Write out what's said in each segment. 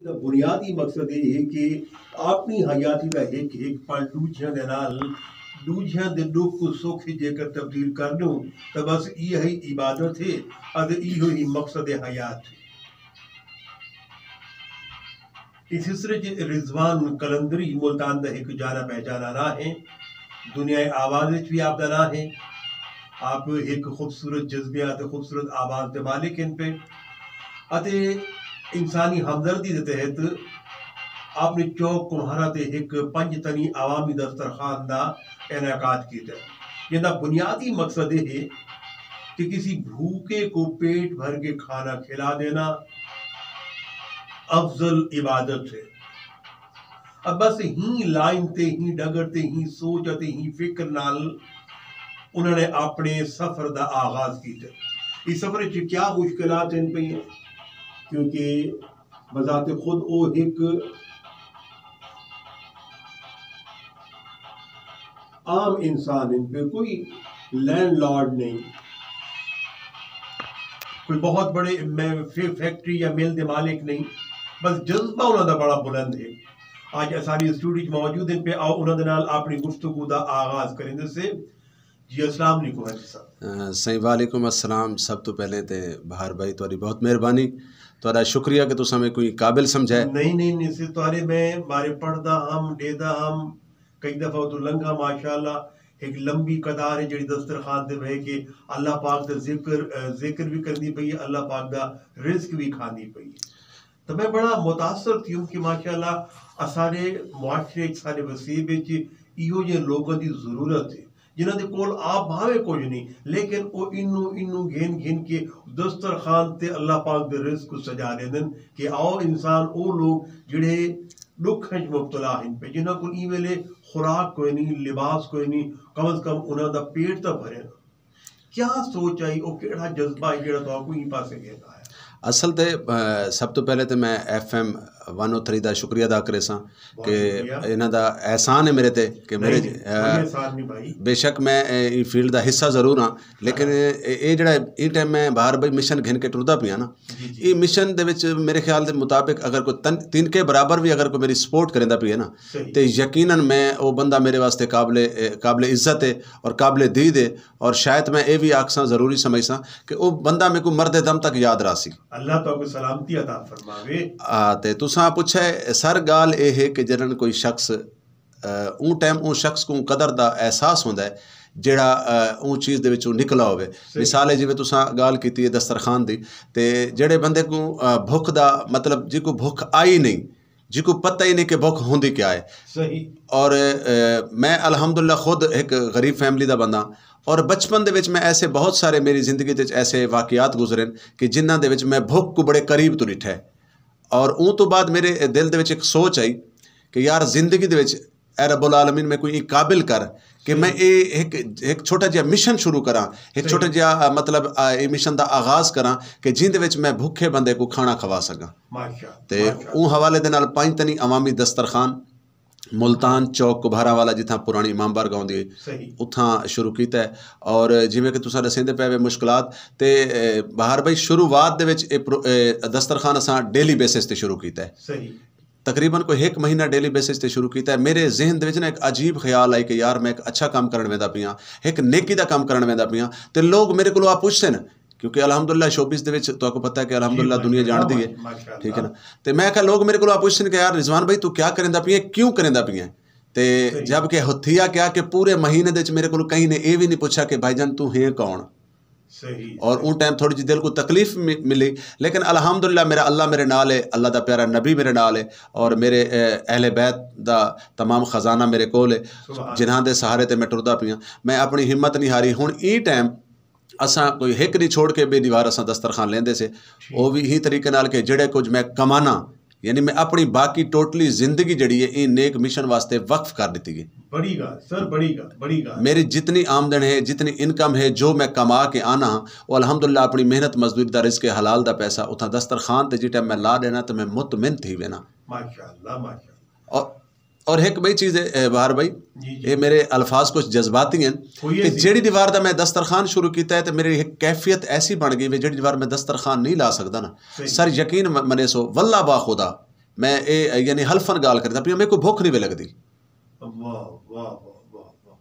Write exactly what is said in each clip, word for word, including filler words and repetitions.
دا بنیادی مقصد ایہ ہے کہ اپݨی حیاتی دا ہک ہک پل ݙوجھیاں دے نال، ݙوجھیاں دے ݙکھ کوں سکھ جیکر تبدیل کر ݙیوں تاں بس ایہا ہی عبادت ہے اتے ایہو ہی مقصد حیات ہے۔ اس سلسلے اچ رضوان قلندری ملتان دا ہک جانا پہچانا ناں ہے۔ دنیا آواز وچ وی آپ دا ناں ہے۔ آپ ہک خوبصورت جذبیاں اتے خوبصورت آواز دے مالک ہن پئے اتے انسانی ہمدردی دے تحت آپ نے چوک کمہارا تے ہک پنج تنی عوامی دسترخوان دا انعقاد کیتا ہے، جیندا بنیادی مقصد اے ہے کہ کسی بھوکے کو پیٹ بھر کے کھانا کھلا دینا افضل عبادت ہے۔ اب بس ہی لائن تے، ہی ڈگر تے، ہی سوچ اتے ہی فکر نال انہاں نے اپنے سفر دا آغاز کیتا۔ اس سفر وچ کیا مشکلات ہن پئیاں؟ کیونکہ بذات خود او ہک عام انسان ہن پئے، کوئی لینڈ لارڈ نہیں، کوئی بہت بڑے میں فے-، فیکٹری یا مل دے مالک نہیں، بس جذبہ انہاں دا بڑا بلند ہے۔ اڄ اساݙی اسٹوڈیو وچ موجود ہن پئے، آؤ انہاں دے نال اپݨی گفتگو دا آغاز کریندے سے۔ جی السلام علیکم حاجی صاحب۔ سائیں وعلیکم السلام۔ سب توں پہلے تے بہار بھائی تہاݙی بہت مہربانی، تہاݙا شکریہ کہ تساں میکوں قابل سمجھے۔ نہیں نہیں نہیں سر، تہاݙے میں بارے پڑھدا ہم، ݙیہدا ہم، کئی دفعہ اتوں لنگھا، ماشاءاللہ ہک لمبی قطار ہے جیڑھی دسترخوان تے بہہ کے اللہ پاک دا ذکر، ذکر وی کریندی پئی ہے، اللہ پاک دا رزق وی کھاندی پئی ہے۔ تاں میں بڑا متاثر تھیوں کہ ماشاءاللہ اساݙے معاشرے اچ، ساݙے وسیب اچ ایہو جہے لوکاں دی ضرورت ہے، جنہاں دے کول آپ بھاویں کجھ نہیں، لیکن او اینوں اینوں گھن گھن کے دسترخوان تے اللہ پاک دے رزق کوں سجا ݙیندن کہ آؤ انسان، او لوک جڑے ݙکھ اچ مبتلا ہن پئے، جنہاں کول ایں ویلے خوراک کوئی نہیں، لباس کوئی نہیں، کم از کم انہاں دا پیٹ تاں بھرے نا۔ کیا سوچ آئی، او کیڑھا جذبہ ہے جیڑھا تہاکوں ایں پاسے گھن آیا؟ اصل تے، آ، سب توں پہلے تے میں F M one O three دا شکریہ ادا کریساں بہت کہ شکریہ۔ انہاں دا احسان ہے میرے تے کہ میرے، نہیں، آ، کوئی احسان نہیں بھائی۔ بے شک میں، اے، ایں فیلڈ دا حصہ ضرور ہاں، لیکن ہاں۔ اے، اے جڑا ایں ٹائم میں بہار بھائی مشن گھن کے ٹردا پیاں نا، جی، جی۔ ایں مشن دے وچ میرے خیال دے مطابق اگر کوئی تن-، تنکے برابر وی اگر کوئی میری سپورٹ کریندا پیا نا، صحیح۔ تے یقیناً میں او بندہ میرے واسطے قابل، اے، قابل عزت ہے اور قابل دید ہے۔ اور شاید میں اے وی آکھساں، ضروری سمجھساں کہ او بندہ میکوں مردے دم تک یاد رہسی۔ اللہ تہاکوں سلامتی عطا فرماوے۔ آ، تے تساں پچھے سر، ڳالھ اے ہے کہ جݙݨ کوئی شخص، آ، اوں ٹائم اوں شخص کوں قدر دا احساس ہوندا ہے جیڑھا، آ، اوں چیز دے وچوں نکلا ہووے۔ صحیح۔ مثال ہے جیویں تساں ڳالھ کیتی ہے دسترخوان دی، تے جیڑھے بندے کوں، آ، بھکھ دا مطلب جیکوں بھکھ آئی نہیں، جیکوں پتہ ہی نہیں کہ بھکھ ہوندی کیا ہے۔ صحیح۔ اور، اے، میں الحمدللہ خود ہک غریب فیملی دا بندہ، اور بچپن دے وچ میں ایسے بہت سارے، میری زندگی دے وچ ایسے واقعات گزرن کہ جنہاں دے وچ میں بھکھ کوں بڑے قریب توں ݙٹھا ہے۔ اور اوں توں بعد میرے دل دے وچ ہک سوچ آئی کہ یار زندگی دے وچ اے رب العالمین میکوں ایں قابل کر کہ میں صحیح۔ اے ہک، ہک چھوٹا جیہا مشن شروع کراں، ہک صحیح۔ چھوٹا جیہا، آ، مطلب، آ، اے مشن دا آغاز کراں کہ جیندے وچ میں بھکھے بندے کوں کھانا کھوا سکاں۔ ماشاءاللہ، تے ماشاءاللہ۔ اوں حوالے دے نال پنج تنی عوامی دسترخوان ملتان چوک کبھارا والا، جتھاں پرانی امام بارگاہ ہوندی ہے، صحیح۔ اتھاں شروع کیتا ہے۔ اور جیویں کہ تساں ݙسیندے پئے وے مشکلات، تے، اے، بہار بھائی، شروعات دے وچ اے پرو-، اے دسترخوان اساں ڈیلی بیسس تے شروع کیتا ہے۔ صحیح۔ تقریباً کوئی ہک مہینہ ڈیلی بیسس تے شروع کیتا ہے۔ میرے ذہن دے وچ نا ہک عجیب خیال آئی کہ یار میں ہک اچھا کم کرݨ ویندا پیاں، ہک نیکی دا کم کرݨ ویندا پیاں، تے لوگ میرے کولوں آ پچھسن، کیونکہ الحمدللہ شوبز دے وچ تہاکوں پتہ ہے کہ الحمدللہ جی، دنیا ماشاءاللہ، جاݨدی ہے، ماشاءاللہ۔ ٹھیک ہے نا؟ تے میں آکھیا، لوگ میرے کولوں آ پچھسن کہ یار رضوان بھائی توں کیا کریندا پئیں، کیوں کریندا پئیں؟ تے صحیح۔ جب کہ ہو-، تھیا کیا کہ پورے مہینے دے وچ میرے کولوں کہیں نے اے وی نہیں پچھا کہ بھائی جان توں ہیں کون؟ صحیح، اور صحیح۔ اوں ٹائم تھوڑی جی دل کوں تکلیف م-، ملی، لیکن الحمدللہ میرا اللہ میرے نال ہے، اللہ دا پیارا نبی میرے نال ہے، اور میرے، اے، اہل بیت دا تمام خزانہ میرے کول ہے، سبحان۔ جنہاں دے سہارے تے میں ٹردا پیاں۔ میں اپݨی ہمت نہیں ہاری۔ ہݨ ایں ٹائم اساں کوئی ہک نہیں چھوڑ کے ٻئے دی وار اساں دسترخوان لیندے سے۔ ٹھیک۔ او وی ایں طریقے نال کہ جیڑھے کجھ میں کماناں، یعنی میں اپݨی باقی ٹوٹلی زندگی جیڑھی ہے ایں نیک مشن واسطے وقف کر ݙتی ہے۔ بڑی ڳالھ سر، بڑی ڳالھ، بڑی ڳالھ۔ میری جتنی آمدن ہے، جتنی انکم ہے، جو میں کما کے آنا ہاں، او الحمدللہ اپݨی محنت مزدوری دا رزق حلال دا پیسہ اتھاں دسترخوان تے جیں ٹائم میں لا ݙینا تے میں مطمئن تھی وینا۔ ماشاءاللہ، ماشاءاللہ۔ اور اور ہک ٻئی چیز ہے، اے، بہار بھائی، جی، جی۔ اے میرے الفاظ کچھ جذباتی ہیں ہوئی کہ ہے سی۔ جیڑھی دی وار دا میں دسترخوان شروع کیتا ہے تے میری ہک کیفیت ایسی بݨ ڳئی وے، جیڑھی دی وار میں دسترخوان نہیں لا سڳدا نا۔ صحیح۔ سر یقین م-، منے سو، واللہ با خدا، میں اے یعنی حلفاً ڳالھ کریندا پیاں، میکوں بھکھ نہیں وے لڳدی۔ واہ واہ واہ واہ واہ۔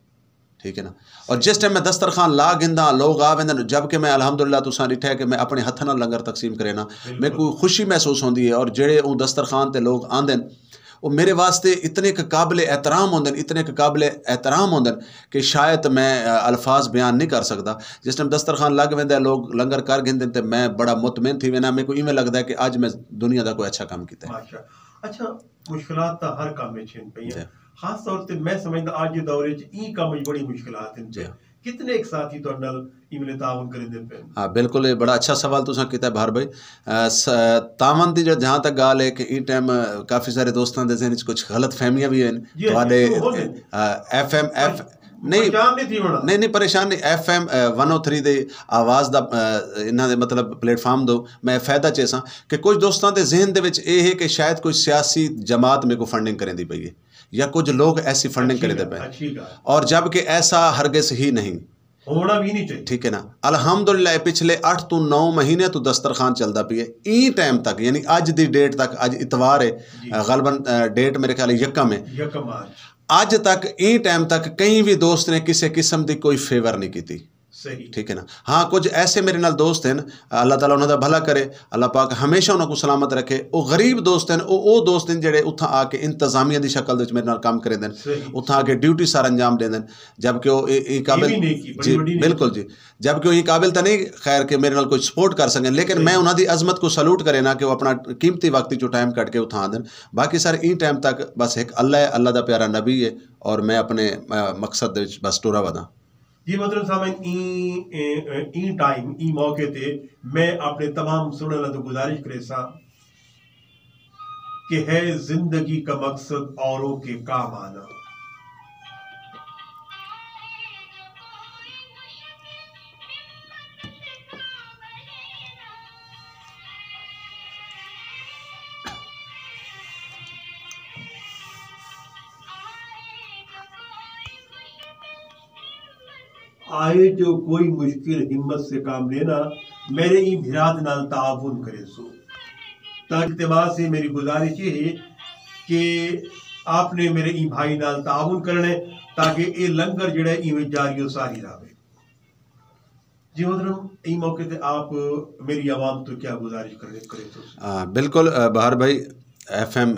ٹھیک ہے نا؟ اور جس ٹائم میں دسترخوان لا گھنداں، لوگ آ ویندن، جبکہ میں الحمدللہ تساں ݙٹھا ہے کہ میں اپنے ہتھاں نال لنگر تقسیم کرینا، میکوں خوشی محسوس ہوندی ہے۔ اور جڑے اوں دسترخوان تے لوگ آندن، وہ میرے واسطے اتنے ک قابل احترام ہوندن، اتنے ک قابل احترام ہوندن کہ شاید میں الفاظ بیان نہیں کر سکدا۔ جس ٹائم دسترخوان لگ ویندا ہے، لوگ لنگر کر گھندن تے میں بڑا مطمئن تھی وینا، میکوں ایویں لگدا ہے کہ اج میں دنیا دا کوئی اچھا کم کیتا ہے۔ ماشاء۔ اچھا، مشکلات تاں ہر کم وچ ہن پئیاں۔ خاص طور تے میں سمجھدا اج دے دور وچ ایں کم وچ بڑی مشکلات ہن۔ کتنے ایک ساتھی تہاڈے نال ایویں تعاون کریندے پئے؟ ہاں، بالکل، یہ بڑا اچھا سوال تساں کیتا ہے بہار بھائی۔ تعاون دی جہاں تک گال ہے کہ این ٹائم کافی سارے دوستاں دے ذہن وچ کچھ غلط فہمیاں بھی ہیں تہاڈے۔ ایف ایم ایف نہیں، نہیں، نہیں، پریشان نہیں۔ F M one O three دے آواز دا، انہاں دے مطلب پلیٹ فارم دو میں فائدہ چیساں کہ کچھ دوستاں دے ذہن دے وچ اے ہے کہ شاید کوئی سیاسی جماعت میکوں فنڈنگ کریندی پئی ہے یا کچھ لوگ ایسی فنڈنگ کریندے پئے، اور جبکہ ایسا ہرگز ہی نہیں۔ ہونا بھی نہیں چاہیے۔ ٹھیک ہے نا؟ الحمدللہ، پچھلے اٹھ تو نو مہینے تو دسترخوان چلدا پئی ہے۔ ایں ٹائم تک، یعنی اج دی ڈیٹ تک، اج اتوار ہے، غالباً ڈیٹ میرے خیال یکم ہے۔ یکم اج۔ اج تک، ایں ٹائم تک کہیں بھی دوست نے کسے قسم دی کوئی فیور نہیں کیتی۔ ٹھیک ہے نا؟ ہاں، کچھ ایسے میرے نال دوست ہیں، اللہ تعالیٰ انہاں دا بھلا کرے، اللہ پاک ہمیشہ انہاں کو سلامت رکھے۔ او غریب دوست ہیں، او او دوست ہیں جڑے اتھاں آ کے انتظامیہ دی شکل وچ میرے نال کام کریندن، اتھاں آ کے ڈیوٹی سر انجام ڈیندن، جبکہ او اے اے قابل، جی، بالکل جی، جبکہ او اے قابل تاں نہیں، خیر، کہ میرے نال کوئی سپورٹ کر سکیں، لیکن میں انہاں دی عظمت کو سلوٹ کرے نا کہ وہ اپنا قیمتی وقت جو ٹائم کٹ کے اتھاں آندن۔ باقی سر، ایں ٹائم تک بس ایک اللہ ہے، اللہ دا پیارا نبی ہے، اور میں اپنے مقصد دے وچ بس ٹرا وداں۔ جی محترم سامعین، ایں ایں ٹائم، ایں موقع تے میں اپنے تمام سنڑن والوں گزارش کریساں کہ ہے زندگی کا مقصد اوروں کے کام آنا۔ آئے جو کوئی مشکل ہمت سے کام لینا، میرے ایں بھرا دے نال تعاون کریسو۔ تاں اقتباس ہے، میری گزارش یہ ہے کہ آپ نے میرے ایں بھائی نال تعاون کرنے تاکہ اے لنگر جڑا ہے ایویں جاری و ساری رہے۔ جی محترم، ایں موقع تے آپ میری عوام تو کیا گزارش کرے کریسو؟ بالکل، بہار بھائی، F M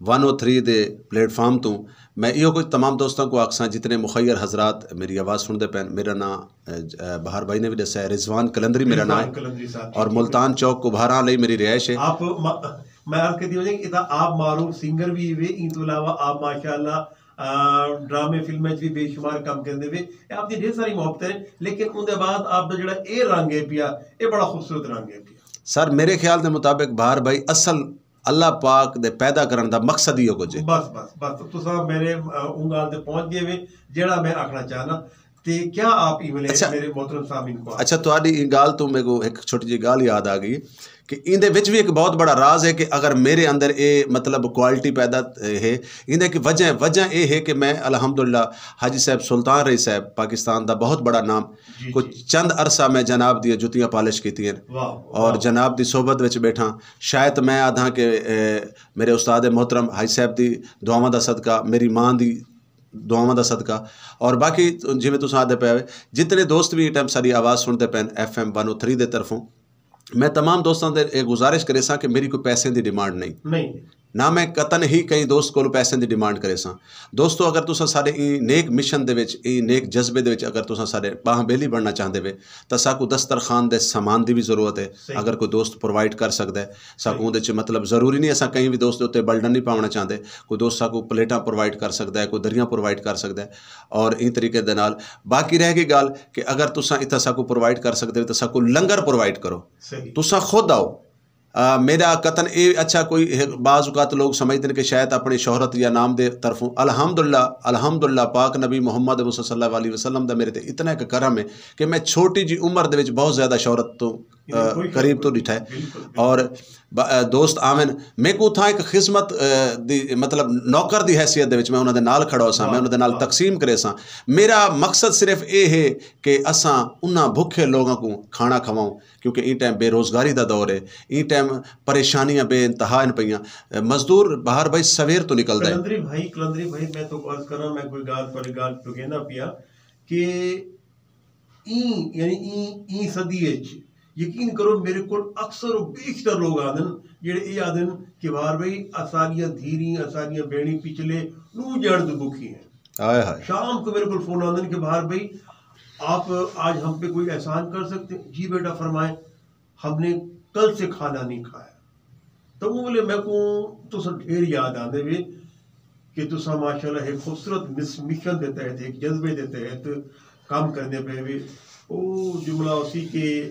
one O three دے پلیٹ فارم توں میں ایہو کچھ تمام دوستاں کو آکھساں، جتنے مخیر حضرات میری آواز سنڑدے پین۔ میرا ناں بہار بھائی نے بھی دسیا ہے، رضوان قلندری میرا ناں ہے، اور ملتان چوک کبھاراں لئی میری رہائش ہے۔ آپ، میں عرض کیتی وجہ کہ اتھاں آپ معروف سنگر بھی ہوئے، ان تو علاوہ آپ ماشاءاللہ ڈرامے فلمیں وچ بھی بے شمار کم کریندے وے۔ آپ دی ڈھیر ساری محبت ہے، لیکن اون دے بعد آپ دا جڑا اے رنگ ہے پیا، اے بڑا خوبصورت رنگ ہے پیا۔ سر، میرے خیال دے مطابق بہار بھائی اصل اللہ پاک دے پیدا کرن دا مقصد ہی او کجھ ہے۔ بس بس بس، تساں میرے اوں گال تے پہنچ گئے وے جیڑا میں آکھنا چاہنا۔ تے کیا آپ ایویں لے اچھا۔ میرے محترم سامعین کو اچھا، تہاڈی ایں گال توں میکوں ہک چھوٹی جی گال یاد آ گئی کہ ایندے وچ وی ہک بہت بڑا راز ہے کہ اگر میرے اندر اے مطلب کوالٹی پیدا ہے، ایندے ہک وجہ، وجہ اے ہے کہ میں الحمدللہ حاجی صاحب سلطان رئی صاحب پاکستان دا بہت بڑا نام، جی، کچھ جی۔ چند عرصہ میں جناب دیاں جتیاں پالش کیتیاں اور جناب دی صحبت وچ بیٹھاں۔ شاید میں آدھاں کہ میرے استاد محترم حاجی صاحب دی دعاواں دا صدقہ، میری ماں دی دعاواں دا صدقہ، اور باقی جیویں تساں آدھے پئے ہوئے، جتنے دوست بھی ایں ٹائم ساڈی آواز سنڑدے پئن F M one O three دے طرفوں، میں تمام دوستاں دے اے گزارش کریساں کہ میری کوئی پیسے دی ڈیمانڈ نہیں۔ نہیں۔ نہ میں قطعاً ہی کہیں دوست کولوں پیسے دی ڈیمانڈ کریساں۔ دوستو، اگر تساں ساڈے ایں نیک مشن دے وچ، ایں نیک جذبے دے وچ اگر تساں ساڈے باہاں بیلی بننا چاہندے وے، تاں ساکوں دسترخوان دے سامان دی وی ضرورت ہے۔ اگر کوئی دوست پرووائیڈ کر سکدا ہے ساکوں اوندے وچ، مطلب ضروری نہیں اساں کہیں وی دوست دے اتے بلڈن نہیں پاوݨا چاہندے، کوئی دوست ساکوں پلیٹاں پرووائیڈ کر سکدا ہے، کوئی دریاں پرووائیڈ کر سکدا ہے، اور ایں طریقے دے نال باقی رہ گئی ڳالھ کہ اگر تساں اتھاں ساکوں پرووائیڈ کر سکدے ہو تاں ساکوں لنگر پرووائیڈ کرو۔ تساں خود آؤ۔ میرا قطعاً اے اچھا کوئی بعض اوقات لوگ سمجھدے نے کہ شاید اپݨی شہرت یا نام دے طرفوں، الحمدللہ، الحمدللہ پاک نبی محمد مصطفیٰ صلی اللہ علیہ وسلم دا میرے تے اتنا ہک کرم ہے کہ میں چھوٹی جی عمر دے وچ بہت زیادہ شہرت توں قریب تو ݙٹھا ہے۔ اور دوست آون، میکوں اتھاں ہک خدمت دی، مطلب نوکر دی حیثیت دے وچ میں انہاں دے نال کھڑا ہوساں، میں انہاں دے نال تقسیم کریساں۔ میرا مقصد صرف اے ہے کہ اساں انہاں بھکھے لوگاں کوں کھانا کھواؤں، کیونکہ ایں ٹائم بے روزگاری دا دور ہے، ایں ٹائم پریشانیاں بے انتہا ہن پیاں۔ مزدور بہار بھائی سویر تو نکلدا ہے۔ قلندری بھائی، قلندری بھائی، میں تو عرض کراں، میں کوئی ڳالھ تہاݙی ڳالھ چکیندا پیا کہ ایں، یعنی ایں، ایں صدی اچ یقین کرو، میرے کول اکثر و بیشتر لوگ آندن جڑے اے آدن کہ بہار بھائی، اساݙیاں دھیریں، اساݙیاں بھیݨیں پچھلے ݙو ڄݨ توں بکھی ہیں۔ ہائے ہائے۔ شام کو میرے کول فون آندن کہ بہار بھائی، آپ آج ہم پہ کوئی احسان کر سکتے ہیں؟ جی بیٹا، فرمائیں۔ ہم نے کل سے کھانا نہیں کھایا۔ تو اوں ویلے میکوں تساں ڈھیر یاد آندے وے کہ تساں ماشاءاللہ ہک خوبصورت مس-، مشن دے تحت، ہک جذبے دے تحت کم کریندے پئے وے۔ او جملہ اسی کہ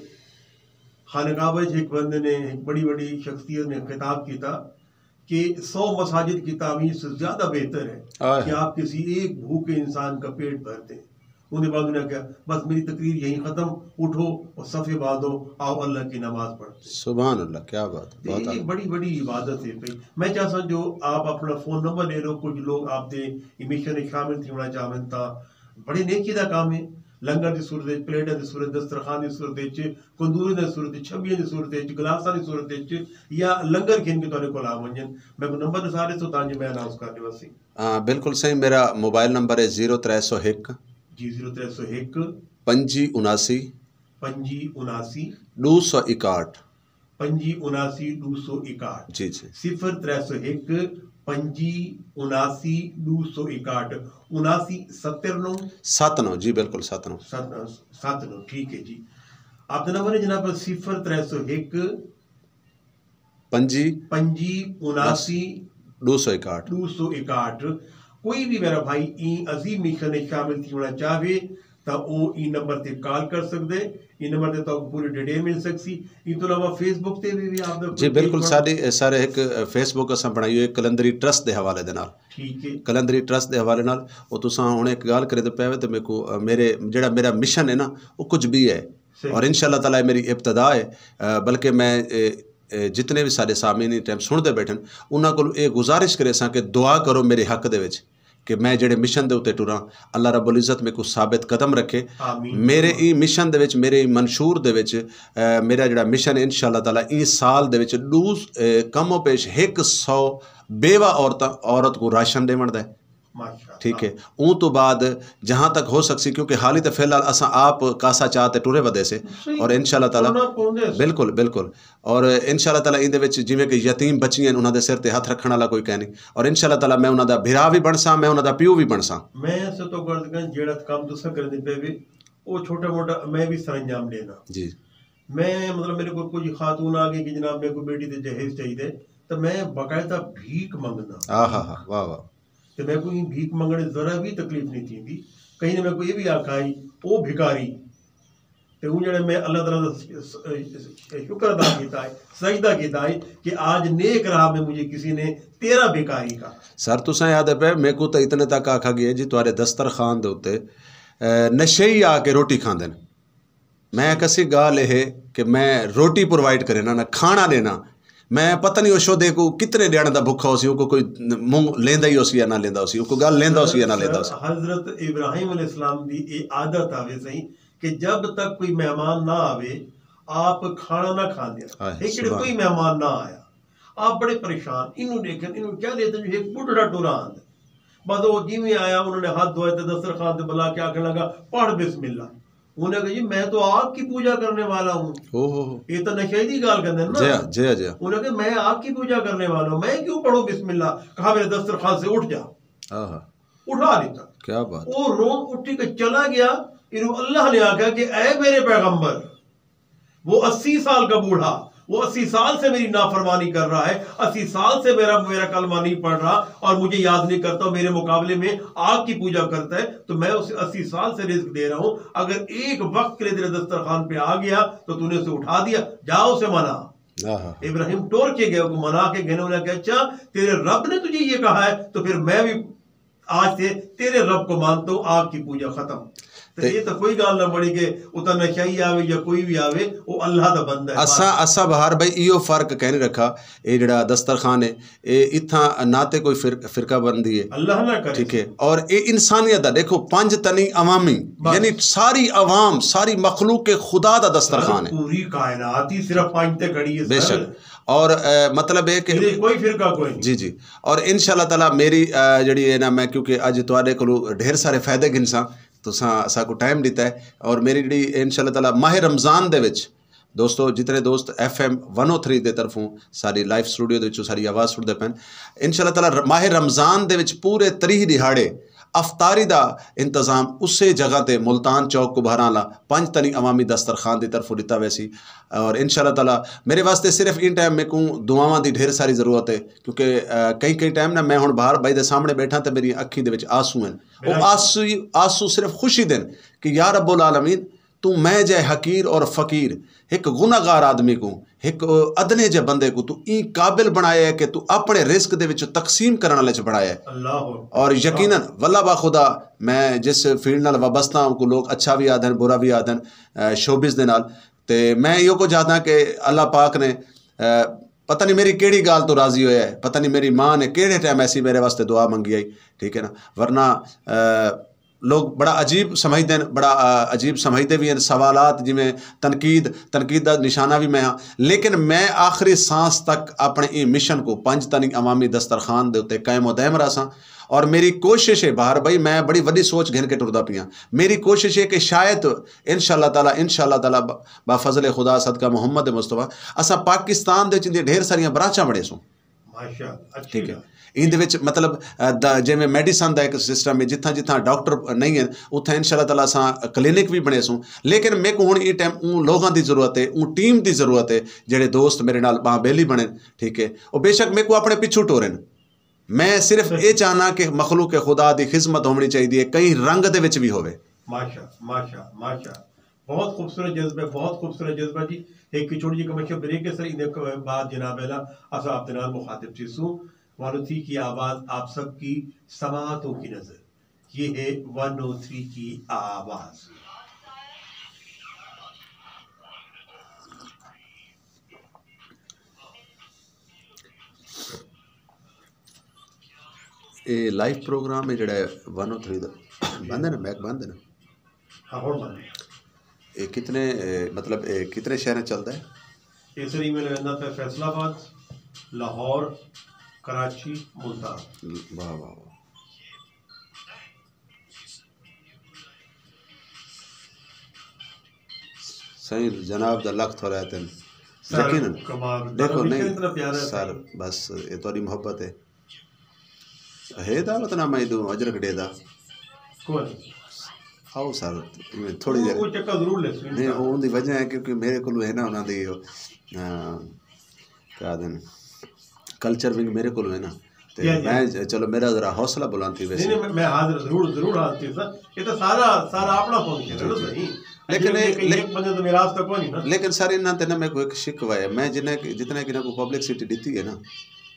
خانقاہ وچ ہک بندے نے، ہک بڑی وڈی شخصیت نے خطاب کیتا کہ سو مساجد کی تعمیر سے زیادہ بہتر ہے آئے کہ ہائے۔ آپ کسی ایک بھوکے انسان کا پیٹ بھر دیں۔ انہیں بعد انہیں کہا، بس میری تقریر یہیں ختم، اٹھو اور صفے باندھو، آؤ اللہ کی نماز پڑھتے ہیں۔ سبحان اللہ، کیا بات ہے، تے بہت یہ اعلیٰ۔ بڑی بڑی عبادت ہے بھائی۔ میں چاہساں جو آپ اپنا فون نمبر لے لو، کچھ لوگ آپ دے ایں مشن وچ شامل تھیونا چاہون تاں بڑی نیکی دا کام ہے۔ لنگر دی صورت وچ، پلیٹاں دی صورت، دسترخوان دی صورت وچ، کندوری دی صورت وچ، چھبیاں دی صورت وچ، گلاساں دی صورت وچ، یا لنگر گھن کے تہاݙے کول آ ونڄن۔ میکوں نمبر ݙسا ݙیسو تاں جو میں اناؤنس کر ݙیواں سی۔ ہاں، بالکل صحیح۔ میرا موبائل نمبر ہے زیرو ترے سو ہک۔ جی، زیرو ترے سو ہک۔ پنجی اناسی۔ پنجی اناسی۔ ݙو سو اکاہٹھ۔ پنجی اناسی ݙو سو اکاہٹھ۔ جی، جی۔ صفر ترے سو ہک، پنجی اناسی ݙو سو اکاہٹھ، اناسی ستر نو۔ ست نو، جی، بالکل، ست نو۔ ست، ست نو، ٹھیک ہے جی۔ آپ دا نمبر ہے جناب صفر ترے سو ہک، پنجی، پنجی اناسی ݙو سو اکاہٹھ۔ ݙو سو اکاہٹھ۔ کوئی بھی میرا بھائی ایں عظیم مشن وچ شامل تھیوݨا چاہوے تاں او ایں نمبر تے کال کر سڳدے۔ ایں نمبر تے تہاکوں پوری ڈیٹیل مل سڳسی۔ ایں توں علاوہ فیس بک تے بھی، بھی آپ دا جی، کوئی پیج بالکل، بݨا؟ ساݙی، اے، سارے ہک، اے، فیس بک اساں بݨائی ہوئی ہے قلندری ٹرسٹ دے حوالے دے نال۔ ٹھیک ہے۔ قلندری ٹرسٹ دے حوالے نال، او تساں ہݨ ہک ڳالھ کریندے پئے وے تے میکوں، اے، میرے، جیڑھا میرا مشن ہے نا، او کچھ بھی ہے۔ صحیح۔ اور انشاءاللہ تعالیٰ میری ابتدا ہے، اے، بلکہ میں، اے، اے، جتنے بھی سارے سامعین ایں ٹائم سݨدے بیٹھن، انہاں کولوں اے گزارش کریساں کہ دعا کرو میرے حق دے وچ کہ میں جڑے مشن دے اتے ٹراں، اللہ رب العزت میکوں ثابت قدم رکھے۔ آمین۔ میرے ایں مشن دے وچ، میرے ایں منشور دے وچ، اے، میرا جڑا مشن ہے، انشاءاللہ تعالیٰ ایں سال دے وچ ݙو، اے، کم و پیش ہک سو بیوہ عورتاں، عورت کوں راشن ݙیوݨ دا ہے۔ ماشاءاللہ۔ ٹھیک ہے، اوں تو بعد جہاں تک ہو سکسی، کیونکہ حالی تے فی الحال اساں آپ کاسا چا تے ٹرے ودے سے، صحیح۔ اور انشاءاللہ تعالیٰ ٹرنا پوندے سے۔ بالکل، بالکل۔ اور انشاءاللہ تعالیٰ ایندے وچ جویں کہ یتیم بچیاں ہن، انہاں دے سر تے ہتھ رکھݨ والا کوئی کائنی۔ اور انشاءاللہ تعالیٰ میں انہاں دا بھرا وی بݨساں، میں انہاں دا پیو وی بݨساں۔ میں اسے تو غرض کن جیڑھا کم تساں کریندے پئے وے، او چھوٹا موٹا میں وی سرانجام ݙینا۔ جی۔ میں، مطلب، میرے کول کچھ خاتون آ گئی کہ جناب میکوں بیٹی تے جہیز چاہیدے، تے میں باقاعدہ بھیک منگدا۔ آہا ہا، واہ واہ۔ تے میکوں ایں بھیک منگݨ ذرا وی تکلیف نہیں تھیندی۔ کہیں نے میکوں اے وی آکھا ہئی، او بھکاری۔ تے اوں جیڑھے میں اللہ تعالیٰ دا س-، س-، شکر ادا کیتا ہے، سجدہ کیتا ہے کہ آج نیک راہ میں مجھے کسی نے تیرا بھکاری کہا۔ سر، تساں یاد ہے پئے، میکوں تاں اتنے تک آکھا ڳیا جی تہاݙے دسترخوان دے اتے، اے، نشئی آ کے روٹی کھاندن۔ میں آکھیا سی ڳالھ اے ہے کہ میں روٹی پرووائیڈ کرینا، نہ کھانا ݙینا۔ میں پتہ نہیں او شودے کوں کتنے ݙیݨ دا بھکھا ہوسی، اوکوں کوئی منہ لیندا ہی ہوسی یا نہ لیندا ہوسی، اوکوں ڳالھ لیندا ہوسی یا نہ لیندا ہوسی۔ حضرت ابراہیم علیہ السلام دی اے عادت آوے سئیں کہ جب تک کوئی مہمان نہ آوے، آپ کھانا نہ کھاندے۔ ہائے، ہک ݙینہہ سبحان۔ کوئی مہمان نہ آیا، آپ بڑے پریشان، اینوں ݙیکھن، اینوں کیا ݙیتے جو ہک ٻڈھڑا ٹرا آندا۔ بس او جیویں آیا، انہاں نے ہتھ دھوئے تے دسترخوان تے بلا کے آکھݨ لگا، پڑھ بسم اللہ۔ انہاں کہا، جی میں تو آگ کی پوجا کرنے والا ہوں۔ ہو، ہو، ہو۔ یہ تو نشے دی ڳالھ کریندے نا۔ جی ہاں، جی ہاں، جی ہاں۔ انہاں کہا، میں آگ کی پوجا کرنے والا ہوں، میں کیوں پڑھوں بسم اللہ؟ کہا، میرے دسترخوان سے اٹھ جا۔ آہا۔ اٹھا لیتا۔ کیا بات۔ او رو اٹھی کے چلا گیا، اینوں اللہ نے آکھیا کہ اے میرے پیغمبر، وہ اسی سال کا بوڑھا، وہ اسی سال سے میری نافرمانی کر رہا ہے، اسی سال سے میرا، میرا کلمہ نہیں پڑھ رہا اور مجھے یاد نہیں کرتا، میرے مقابلے میں آگ کی پوجا کرتا ہے، تو میں اسے اسی سال سے رزق دے رہا ہوں، اگر ایک وقت کے لیے تیرے دسترخوان پہ آ گیا تو تو نے اسے اٹھا دیا، جا اسے منا۔ آہا۔ ابراہیم ٹر کے گئے، کو منا کے گئے، انہوں نے کہا، اچھا، تیرے رب نے تجھے یہ کہا ہے، تو پھر میں بھی آج سے تیرے رب کو مانتا ہوں، آگ کی پوجا ختم۔ تے یہ تو کوئی گال نہ بنی کہ اتنا نشائی آوے یا کوئی بھی آوے، وہ اللہ دا بندہ ہے۔ اساں اساں بہار بھائی ایہو فرق کہیں رکھا۔ اے جڑا دسترخوان ہے، اے اتھاں نہ تے کوئی فرق فرقہ بندی ہے، اللہ نہ کرے۔ ٹھیک ہے، اور اے انسانیت دا دیکھو، پنج تنی عوامی، بس۔ یعنی ساری عوام، ساری مخلوق کے خدا دا دسترخوان ہے۔ پوری کائنات ہی صرف پنج تے کھڑی ہے، بے شک۔ اور مطلب ہے کہ کوئی فرقہ کوئی نہیں۔ جی جی۔ اور انشاءاللہ تعالیٰ میری جڑی ہے نا، میں کیونکہ اج تواڈے کولوں ڈھیر سارے فائدے گھنساں، تساں ساکوں ٹائم ڈتا ہے۔ اور میری جڑی انشاءاللہ تعالیٰ ماہ رمضان دے وچ دوستو، جتنے دوست F M one O three دے طرفوں ساری لائیو سٹوڈیو دے وچوں ساری آواز سنتے پین، انشاءاللہ تعالیٰ ماہ رمضان دے وچ پورے تریہہ دیہاڑے افطاری دا انتظام اسے جگہ تے ملتان چوک کبھاراں لا پنج تنی عوامی دسترخوان دی طرفوں ڈتا ویسی۔ اور انشاءاللہ تعالیٰ میرے واسطے صرف ان ٹائم میکوں دعاواں دی ڈھیر ساری ضرورت ہے، کیونکہ کئی کئی ٹائم نا میں ہن باہر بھائی دے سامنے بیٹھا تے میری اکھیں دے وچ آنسو ہیں۔ وہ آنسو آنسو صرف خوشی دن کہ یا رب العالمین، توں میں جے حقیر اور فقیر ہک گناہگار آدمی کوں، ہک ادنے جے بندے کوں توں ایں قابل بنایا ہے کہ توں اپنے رزق دے وچ تقسیم کرن والے چ بنایا ہے۔ اور یقیناً واللہ با خدا، میں جس فیلڈ نال وابستہ ہوں، کو لوگ اچھا بھی آدھن، برا بھی آدھن، شوبز دے نال، تے میں ایہو کچھ آدھاں کہ اللہ پاک نے پتہ نہیں میری کیڑی گال تو راضی ہویا ہے، پتہ نہیں میری ماں نے کیڑے ٹائم ایسی میرے واسطے دعا منگی آئی، ٹھیک ہے نا؟ ورنہ لوگ بڑا عجیب سمجھدے ہیں، بڑا عجیب سمجھدے بھی ہیں۔ سوالات جویں تنقید، تنقید دا نشانہ بھی میں ہاں، لیکن میں آخری سانس تک اپنے ایں مشن کو پنج تنی عوامی دسترخوان دے اتے قائم و دائم رہساں۔ اور میری کوشش ہے بہار بھائی، میں بڑی وڈی سوچ گھن کے ٹردا پیاں۔ میری کوشش ہے کہ شاید انشاءاللہ تعالیٰ، انشاءاللہ تعالیٰ با فضل خدا صدقہ محمد مصطفیٰ اساں پاکستان دے وچ ایندیاں ڈھیر ساریاں برانچاں بنڑیسوں۔ ٹھیک ہے۔ ایندے وچ مطلب جیویں میڈیسن دا ایک سسٹم ہے، جتھاں جتھاں ڈاکٹر نہیں ہیں اتھاں انشاءاللہ تعالیٰ اساں کلینک بھی بنڑیسوں۔ لیکن میکوں ہن ایں ٹائم اوں لوگاں دی ضرورت ہے، اوں ٹیم دی ضرورت ہے، جیڑھے دوست میرے نال باں بیلی بنڑن۔ ٹھیک ہے، او بے شک میکوں اپنے پچھوں ٹورن۔ میں صرف اے چاہنا کہ مخلوق خدا دی خدمت ہووݨی چاہیدی ہے، کہیں رنگ دے وچ وی ہووے۔ ماشاء، ماشاء، ماشاء۔ بہت خوبصورت جذبہ، بہت خوبصورت جذبہ جی۔ ہک چھوٹی جی کمرشل بریک ہے سر، ایندے بعد جناب اعلیٰ اساں آپ دے نال مخاطب تھیسوں۔ ون او تھری کی آواز، آپ سب کی سماعتوں کی نذر۔ یہ ہے ون او تھری کی آواز۔ اے لائیو پروگرام ہے جڑا ون او تھری دا بند ہے نا، میک بند ہے نا؟ ہاں، ہن بند ہے۔ اے کتنے، اے مطلب، اے کتنے شہراں چلدا ہے؟ اے سر، ایویں ویندا پیا فیصل آباد، لاہور، کراچی، ملتان۔ واہ، واہ، واہ۔ سائیں جناب دا لکھ تھوڑا ہے تین۔ سر، یقیناً۔ کمال۔ دیکھو، نہیں، اتنا پیارا ہے سر، سائیں۔ بس، اے تہاݙی محبت ہے۔ ہے دعوت نامہ ایݙوں اجرک ݙے دا۔ کوئی نہیں۔ آؤ سر، تھوڑی دیر۔ وہ چکر ضرور لے سن۔ نہیں، وہ ان دی وجہ ہے کیونکہ میرے کولوں ہے نا انہاں دی، آ، کیا آہدن، کلچر ونگ میرے کولوں ہے نا۔ تے جی، جی۔ میں، چلو، میرا ذرا حوصلہ بلند تھی ویسے۔ نہیں، نہیں، میں، میں حاضر، ضرور، ضرور حاضر تھی سر۔ یہ تو سارا، سارا اپنا فنکشن ہے نا، جی، جی۔ صحیح۔ لیکن اے، ایک بندے تو میرا راستہ کوئی نہیں نا۔ لیکن سر، انہاں تے نا میکوں ایک شکوہ ہے، میں جنہیں، جتنے کہ انہاں کو پبلسٹی ڈتی ہے نا،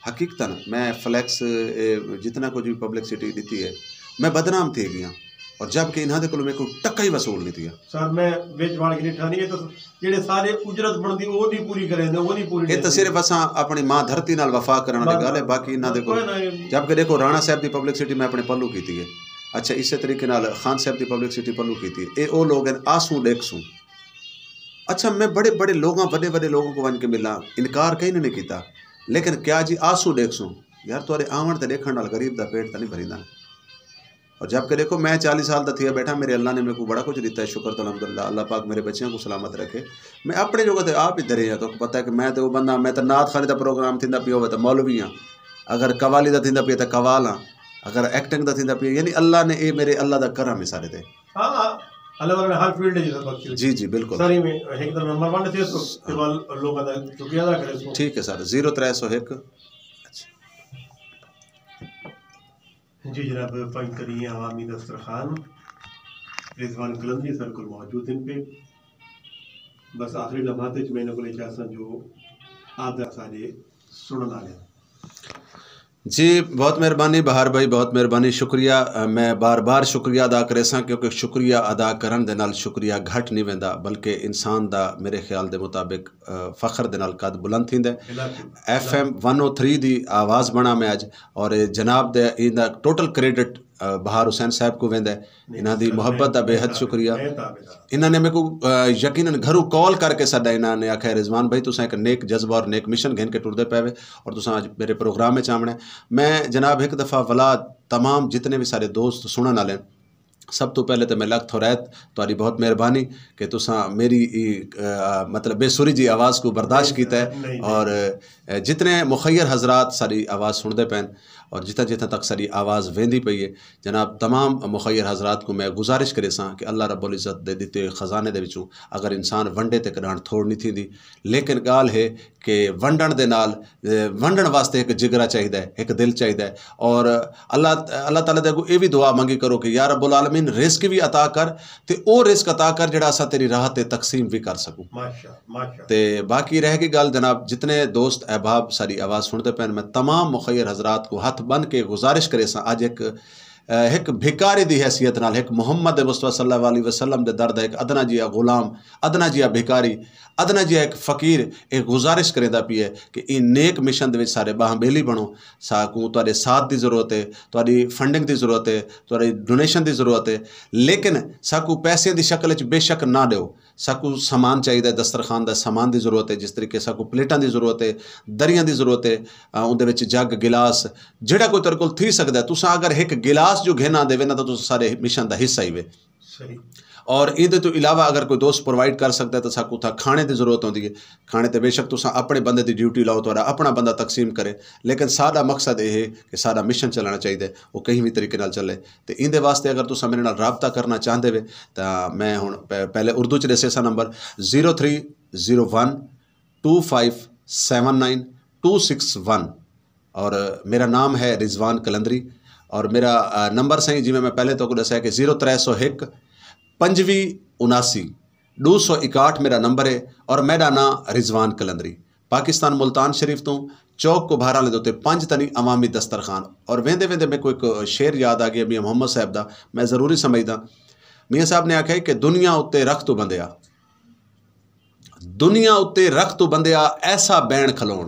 حقیقتاً میں فلیکس، اے، جتنا کچھ بھی پبلسٹی ڈتی ہے، میں بدنام تھی گیا، اور جب کہ انہاں دے کولوں میکوں ٹکا ہی وصول نہیں تھیا۔ سر، میں وچ وڑ کے ڈٹھا نہیں، یہ تو جیڑھے سارے اجرت بݨدی، او نہیں پوری کریندے، او نہیں پوری اے تاں کریندے۔ صرف اساں اپݨی ماں دھرتی نال وفا کرݨ دی بس، ڳالھ ہے، بس۔ باقی انہاں دے کول۔ کوئی نہ، کوئی نہ۔ جب کہ ݙیکھو، رانا صاحب دی پبلسٹی میں اپݨے پلوں کیتی ہے۔ اچھا، اسے طریقے نال خان صاحب دی پبلسٹی پلوں کیتی ہے۔ اے او لوگ ہن، آسوں ݙیکھسوں۔ اچھا، میں بڑے بڑے لوگاں، وݙے وݙے لوگوں کو ونڄ کے ملاں، انکار کہیں نے نہیں کیتا، لیکن کیا جی آسوں ݙیکھسوں؟ یار، تہاݙے آوݨ تے ݙیکھݨ نال غریب دا پیٹ تاں نہیں بھریندا۔ اور جب کہ ݙیکھو، میں چالیہہ سال دا تھیا ٻیٹھا، میرے اللہ نے میکوں بڑا کچھ ݙتا ہے، شکر تو الحمدللہ، اللہ پاک میرے بچیاں کوں سلامت رکھے۔ میں اپݨے جوڳا تے آپ ہی درے ہاں، تہاکوں پتہ ہے کہ میں تے او بندہ، میں تے نعت خوانی دا پروگرام تھیندا پیا ہووے تاں مولوی ہاں، اگر قوالی دا تھیندا پیا تاں قوال ہاں، اگر ایکٹنگ دا تھیندا پیا، یعنی اللہ نے، اے میرے اللہ دا کرم ہے سارے تے۔ ہاں، ہاں، اللہ تعالیٰ نے ہر فیلڈ وچ عزت بخشی ہوئی۔ جی، جی، بالکل۔ ساری میں ہک دا نمبر ون تھیسوں، تے ول لوکاں دا شکریہ ادا کریسوں۔ ٹھیک ہے سر، زیرو ترے سو ہک۔ اچھا۔ جی جناب، پنج تنی عوامی دسترخوان رضوان قلندری سر کول موجود ہن پئے۔ بس آخری لمحات وچ میں انہاں کول اے چاہساں جو آپ دا سارے سݨݨ والے۔ جی، بہت مہربانی بہار بھائی، بہت مہربانی، شکریہ۔ میں بار بار شکریہ ادا کریساں، کیونکہ شکریہ ادا کرݨ دے نال شکریہ گھٹ نہیں ویندا، بلکہ انسان دا میرے خیال دے مطابق فخر دے نال قد بلند تھیندا ہے۔ F M one O three دی آواز بݨا میں اڄ، اور جناب دے ایندا ٹوٹل کریڈٹ بہار حسین صاحب کو ویندا ہے۔ انہاں دی محبت دا بے حد شکریہ۔ انہاں نے میکوں یقیناً گھروں کال کر کے سݙا، انہاں نے آکھیا، رضوان بھائی، تساں ایک نیک جذبہ اور نیک مشن گھن کے ٹردے پے وے، اور تساں اڄ میرے پروگرام وچ آوݨا ہے۔ میں جناب ہک دفعہ ولا تمام جتنے بھی سارے دوست سنݨ والے ہیں، سب تو پہلے تو میں لکھ تھوریت تہاݙی بہت مہربانی کہ تساں میری ای مطلب بے سری جی آواز کو برداشت کیتا ہے، اور جتنے مخیر حضرات ساری آواز سنتے پین اور جتھاں جتھاں تک ساری آواز ویندی پئی ہے، جناب تمام مخیر حضرات کو میں گزارش کریساں کہ اللہ رب العزت دے ݙتے ہوئے خزانے دے وچوں اگر انسان ونڈے تے کݙاہݨ تھوڑ نہیں تھیندی، لیکن ڳالھ ہے کہ ونڈݨ دے نال ونڈݨ واسطے ہک جگرا چاہیدا ہے، ہک دل چاہیدا ہے۔ اور اللہ اللہ تعالیٰ دے اگوں اے وی دعا منگی کرو کہ یا رب العالمین، رزق وی عطا کر، تے او رزق عطا کر جڑا اساں تیری راہ تے تقسیم وی کر سکوں۔ تے باقی رہ گئی ڳالھ جناب، جتنے دوست احباب ساری آواز سنتے پین، میں تمام مخیر حضرات کو ہتھ بن کے گزارش کریساں، اج ہک ہک بھکاری دی حیثیت نال، ہک محمد مصطفیٰ صلی اللہ علیہ وسلم دے در دا ہک ادنا جیا غلام، ادنا جیا بھکاری، ادنا جیا ہک فقیر اے گزارش کریندا پی ہے کہ ایں نیک مشن دے وچ سارے ٻاہاں ٻیلی بݨو۔ ساکوں تہاݙے ساتھ دی ضرورت ہے، تہاݙی فنڈنگ دی ضرورت ہے، تہاݙی ڈونیشن دی ضرورت ہے، لیکن ساکوں پیسے دی شکل وچ بے شک نہ ݙیو۔ ساکوں سامان چاہیدا ہے، دسترخوان دا سامان دی ضرورت ہے، جس طریقے ساکوں پلیٹاں دی ضرورت ہے، دریاں دی ضرورت ہے، اوندے وچ جگ، گلاس، جیڑھا کوئی تیرے کول تھی سکدا ہے۔ تساں اگر ہک گلاس جو گھن آندے وے نا، تاں تساں سارے مشن دا حصہ ہی وے۔ اور ایندے توں علاوہ اگر کوئی دوست پرووائیڈ کر سکدا ہے تاں ساکوں اتھاں کھانے دی ضرورت ہوندی ہے۔ کھانے تے بے شک تساں اپݨے بندے دی ڈیوٹی لاؤ، تہاݙا اپݨا بندہ تقسیم کرے، لیکن ساݙا مقصد اے ہے کہ ساݙا مشن چلݨا چاہیدا ہے، او کہیں وی طریقے نال چلے۔ تے ایندے واسطے اگر تساں میرے نال رابطہ کرݨا چاہندے وے تاں میں ہݨ پہلے اردو چ ݙسیساں number zero three zero one two five seven nine two six one, اور میرا نام ہے رضوان قلندری۔ اور میرا نمبر سائیں، جی میں پہلے تو کو ݙسایا کہ زیرو ترے سو ہک پنجوی اناسی ݙو سو اکاہٹھ میرا نمبر ہے۔ اور میرا نام رضوان قلندری، پاکستان ملتان شریف توں، چوک کبھاراں دے اتے پنج تنی عوامی دسترخوان۔ اور ویندے ویندے میکوں ہک شعر یاد آ گیا میاں محمد صاحب دا، میں ضروری سمجھدا۔ میاں صاحب نے آکھیا کہ دنیا اتے رکھ تو بندیا، دنیا اتے رکھ تو بندیا، ایسا بین کھلوݨ۔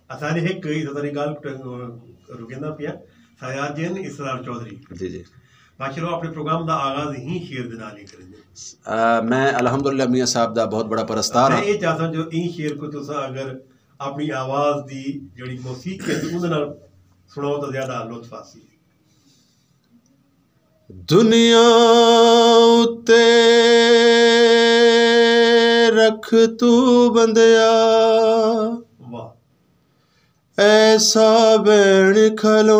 اساݙے ہک ہی ساری ڳالھ رکیندا پیا، سایار جین اسرار چوہدری۔ جی جی۔ ماشاءاللہ، اپݨے پروگرام دا آغاز ہی شعر دے نال ہی کریندے۔ میں الحمدللہ میاں صاحب دا بہت بڑا پرستار ہاں۔ میں اے چاہساں جو ایں شعر کو تساں اگر اپݨی آواز دی جڑی موسیقی ہے اون دے نال سناؤ تو زیادہ لطف آسی۔ دنیا اتے رکھ تو بندیا، واہ۔ ایسا بین کھلوݨ،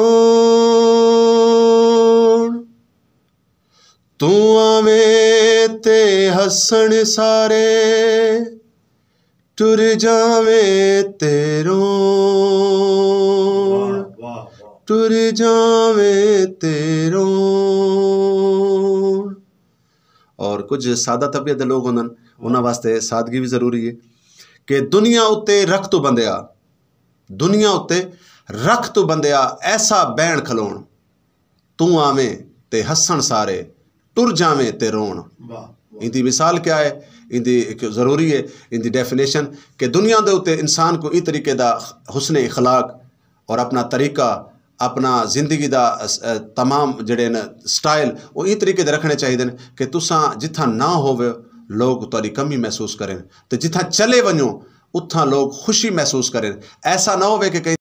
توں آویں تے ہسݨ سارے، ٹر جاویں تے روݨ، واہ، واہ، واہ۔ ٹر جاویں تے روݨ۔ اور کچھ سادہ طبیعت دے لوگ ہوندن، انہاں واسطے سادگی بھی ضروری ہے کہ دنیا اتے رکھ تو بندیا، دنیا اتے رکھ تو بندیا، ایسا بین کھلوݨ، توں آویں تے ہسݨ سارے، ٹر جاویں تے روݨ۔ واہ، واہ۔ ایندی مثال کیا ہے؟ ایندی ہک ضروری ہے، ایندی ڈیفینیشن کہ دنیا دے اتے انسان کو ایں طریقے دا حسن اخلاق اور اپنا طریقہ، اپنا زندگی دا اس-، اے، تمام جڑے ن سٹائل، او ایں طریقے دے رکھݨے چاہیدے ن کہ تساں جتھاں نہ ہووے، لوگ تہاݙی کمی محسوس کرن، تے جتھاں چلے ونڄو، اتھاں لوگ خوشی محسوس کرن۔ ایسا نہ ہووے کہ کہیں